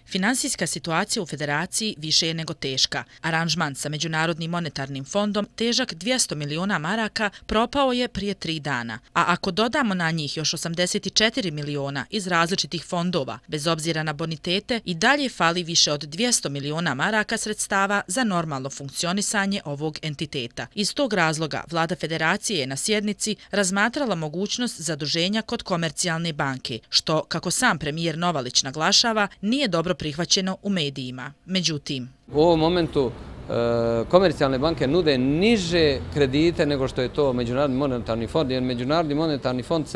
Finansijska situacija u Federaciji više je nego teška. Aranžman sa Međunarodnim monetarnim fondom, težak 200 miliona maraka, propao je prije 3 dana. A ako dodamo na njih još 84 miliona iz različitih fondova, bez obzira na bonitete, i dalje fali više od 200 miliona maraka sredstava za normalno funkcionisanje ovog entiteta. Iz tog razloga vlada Federacije je na sjednici razmatrala mogućnost zaduženja kod Komercijalne banke, što, kako sam premijer Novalić naglašava, nije dobro prihvaćeno u medijima. Međutim, u ovom momentu komercijalne banke nude niže kredite nego što je to Međunarodni monetarni fond, jer Međunarodni monetarni fond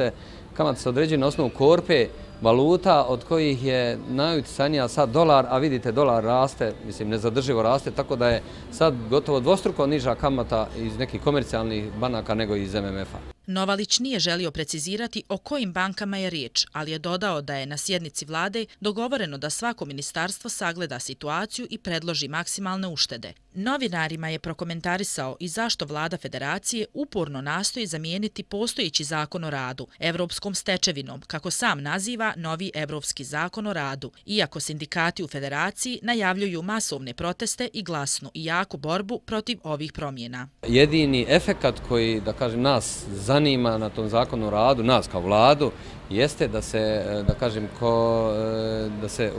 kamata se određuje na osnovu korpe valuta od kojih je najutjecajnija sad dolar, a vidite dolar raste, mislim nezadrživo raste, tako da je sad gotovo dvostruko niža kamata iz nekih komercijalnih banaka nego iz MMF-a. Novalić nije želio precizirati o kojim bankama je riječ, ali je dodao da je na sjednici vlade dogovoreno da svako ministarstvo sagleda situaciju i predloži maksimalne uštede. Novinarima je prokomentarisao i zašto vlada Federacije uporno nastoji zamijeniti postojeći zakon o radu evropskom stečevinom, kako sam naziva novi evropski zakon o radu, iako sindikati u Federaciji najavljuju masovne proteste i glasnu i jaku borbu protiv ovih promjena. Jedini efekat koji, da kažem, nas zanima na tom zakonu o radu, nas kao vladu, jeste da se, da kažem, da se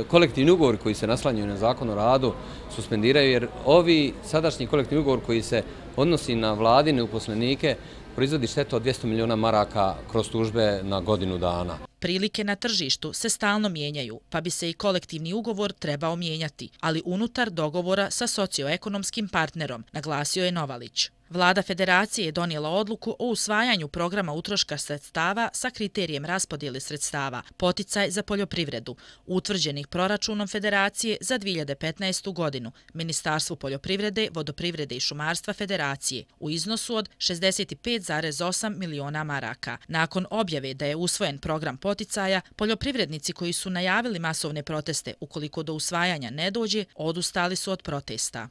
kolektivni ugovori koji se naslanjaju na zakon o radu suspendiraju, jer ovi sadašnji kolektivni ugovor koji se odnosi na vladine uposlenike proizvodi štetu od 200 miliona maraka kroz tužbe na godinu dana. Prilike na tržištu se stalno mijenjaju, pa bi se i kolektivni ugovor trebao mijenjati, ali unutar dogovora sa socioekonomskim partnerom, naglasio je Novalić. Vlada Federacije je donijela odluku o usvajanju programa utroška sredstava sa kriterijem raspodjele sredstava, poticaj za poljoprivredu, utvrđenih proračunom Federacije za 2015. godinu, Ministarstvu poljoprivrede, vodoprivrede i šumarstva Federacije, u iznosu od 65,8 miliona maraka. Nakon objave da je usvojen program poticaja, poljoprivrednici koji su najavili masovne proteste ukoliko do usvajanja ne dođe, odustali su od protesta.